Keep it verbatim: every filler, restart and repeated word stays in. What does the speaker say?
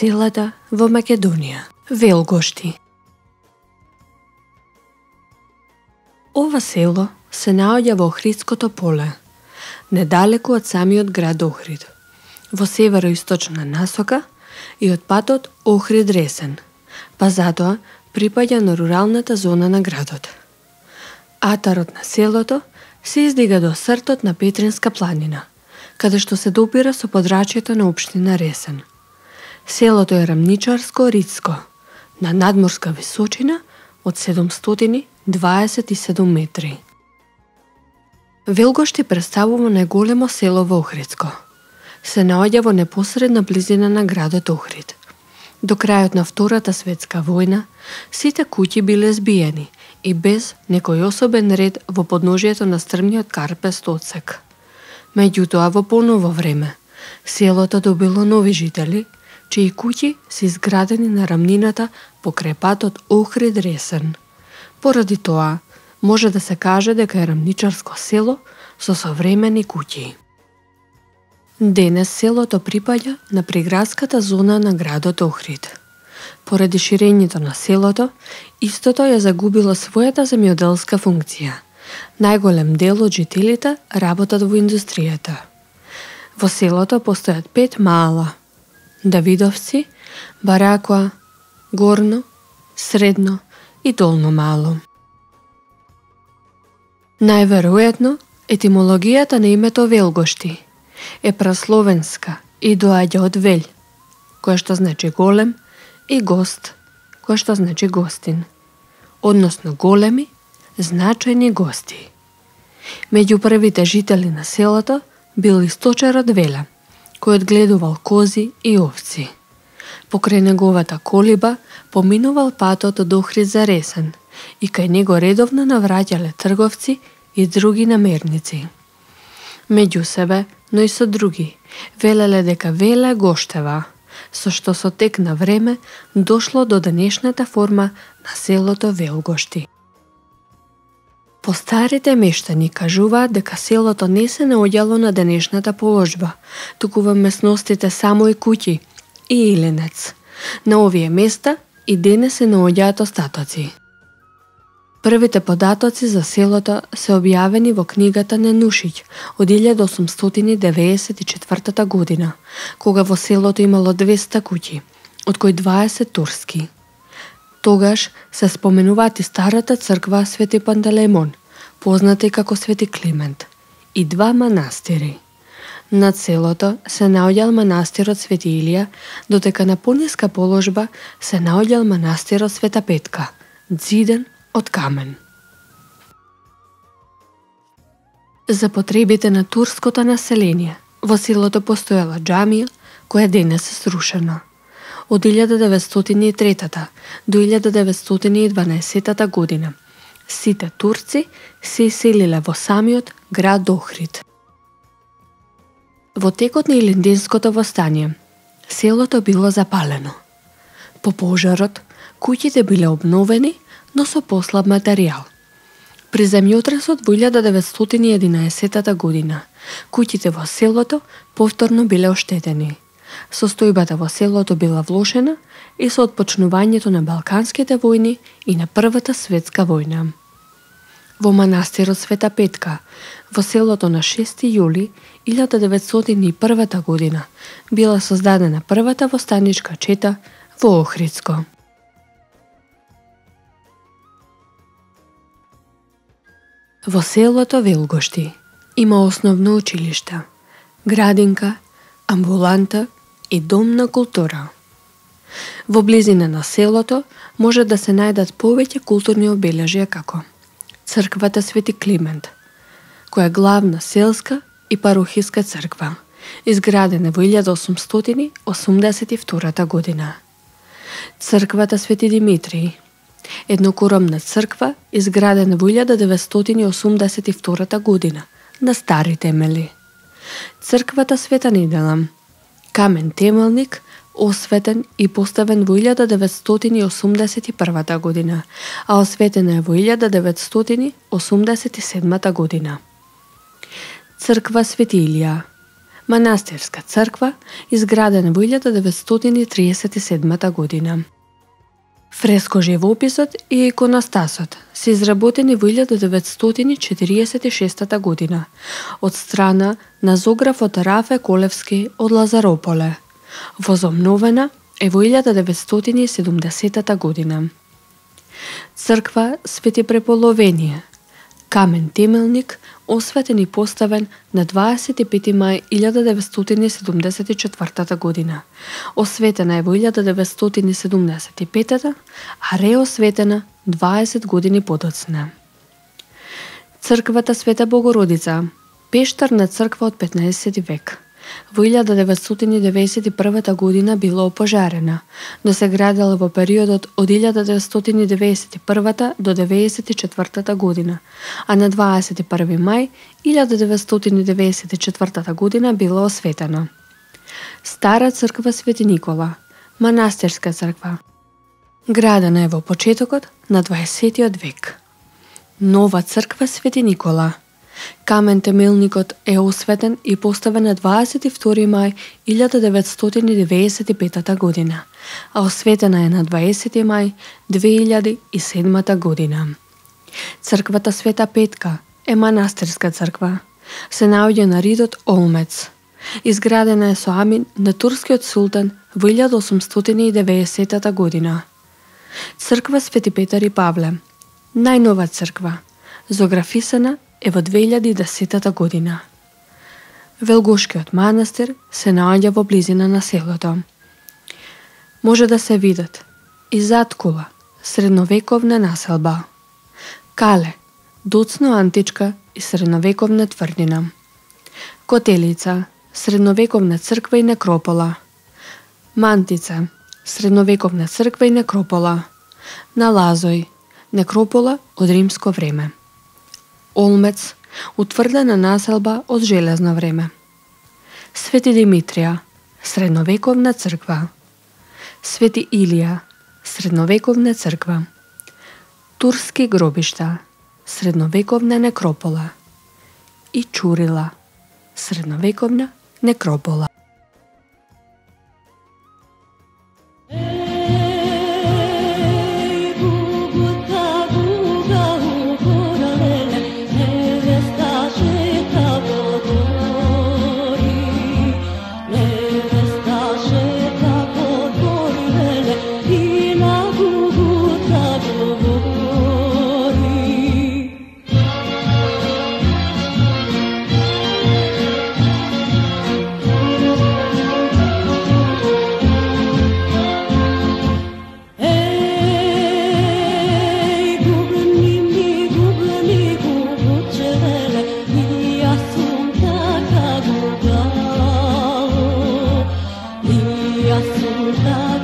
селата во Македонија, Велгошти. Ова село се наоѓа во Охридското поле, недалеку од самиот град Охрид, во североисточна насока и од патот Охрид-Ресен, па затоа припаѓа на руралната зона на градот. Атарот на селото се издига до сртот на Петринска планина, каде што се допира со подрачјето на општина Ресен. Селото е рамничарско-ридско, на надморска височина од седумстотини дваесет и седум метри. Велгошти представува најголемо село во Охридско. Се наоѓа во непосредна близина на градот Охрид. До крајот на Втората светска војна, сите куќи биле збиени и без некој особен ред во подножието на стрмниот карпест одсек. Меѓутоа, во поново време, селото добило нови жители, чии куќи се изградени на рамнината покрај патот Охрид-Ресен. Поради тоа, може да се каже дека е рамничарско село со современи куќи. Денес селото припаѓа на приградската зона на градот Охрид. Поради ширењето на селото, истото ја загубило својата земјоделска функција. Најголем дел од жителите работат во индустријата. Во селото постојат пет маала: Давидовци, Баракоа, Горно, Средно и Долно мало. Најверојатно, етимологијата на името Велгошти е прасловенска и доаѓа од Вель, која што значи голем, и гост, која што значи гостин, односно големи, значајни гости. Меѓу првите жители на селото бил и сточарот Веле, кој одгледувал кози и овци. Покрај неговата колиба поминувал патот од Охрид за Ресен и кај него редовно навраќале трговци и други намерници. Меѓу себе, но и со други, велеле дека Веле гоштева, со што со тек на време дошло до денешната форма на селото Велгошти. Постарите мештани кажуваат дека селото не се наоѓало на денешната положба, туку во местностите само и куќи и Иленец. На овие места и денес се наоѓаат остатоци. Првите податоци за селото се објавени во книгата Ненушиќ од илјада осумстотини деветдесет и четвртата година, кога во селото имало двеста куќи, од кои дваесет турски. Тогаш се споменуваат и старата црква Свети Пантелеимон, позната и како Свети Климент, и два манастири. Над селото се наоѓал манастирот Свети Илија, додека на пониска положба се наоѓал манастирот Света Петка, зиден од камен. За потребите на турското население, во селото постоела џамија, која денес е срушена. Од илјада деветстотини и трета до илјада деветстотини и дванаесеттата година, сите турци се иселиле во самиот град Охрид. Во текот на Илинденското востание, селото било запалено. По пожарот, куќите биле обновени, но со послаб материјал. При земјотресот во илјада деветстотини и единаесеттата година, куќите во селото повторно биле оштетени. Состојбата во селото била влошена и со отпочнувањето на Балканските војни и на Првата светска војна. Во манастирот Света Петка, во селото на шести јули илјада деветстотини и првата година, била создадена првата востаничка чета во Охридско. Во селото Велгошти има основно училиште, градинка, амбуланта и дом на култура. Во близина на селото може да се најдат повеќе културни обележја како црквата Свети Климент, која е главна селска и парухиска црква, изградена во илјада осумстотини осумдесет и втората година. Црквата Свети Димитрий, еднокоромна црква изградена во илјада деветстотини осумдесет и втората година на стари темели. Црквата Света Недела, камен темелник, осветен и поставен во илјада деветстотини осумдесет и првата година, а осветена е во илјада деветстотини осумдесет и седмата година. Црква Свети Илија, Манастирска црква, изградена во илјада деветстотини триесет и седма година. Фреско живописот и иконостасот се изработени во илјада деветстотини четириесет и шеста година од страна на зографот Рафе Колевски од Лазарополе. Возобновена е во илјада деветстотини и седумдесета година. Црква Свети Преполовение, камен темелник, осветен и поставен на дваесет и пети мај илјада деветстотини и седумдесет и четвртата година. Осветена е во илјада деветстотини и седумдесет и петата, а реосветена дваесет години подоцна. Црквата Света Богородица, пештарна црква од петнаесети век. Во илјада деветстотини деветдесет и прва година била опожарена, но се градела во периодот од илјада деветстотини деветдесет и прва до деветдесет и четвртата година, а на дваесет и први мај илјада деветстотини деветдесет и четвртата година била осветена. Стара црква Свети Никола, манастирска црква. Градена е во почетокот на дваесетиот век. Нова црква Свети Никола. Камен темелникот е осветен и поставен на дваесет и втори мај илјада деветстотини деветдесет и петата година, а осветена е на дваесети мај две илјади и седмата година. Црквата Света Петка е манастирска црква. Се наоѓа на ридот Олмец. Изградена е со амин на турскиот султан во илјада осумстотини и деветдесетата година. Црква Свети Петар и Павле, најнова црква, зографисана е во две илјади и десетата година. Велгошкиот манастир се наоѓа во близина на селото. Може да се видат и Заткула, средновековна населба. Кале, доцно античка и средновековна тврдина. Котелица, средновековна црква и некропола. Мантица, средновековна црква и некропола. Налазој, некропола од римско време. Олмец, утврдена населба од железно време. Свети Димитрија, средновековна црква. Свети Илија, средновековна црква. Турски гробишта, средновековна некропола. И Чурила, средновековна некропола. Assunta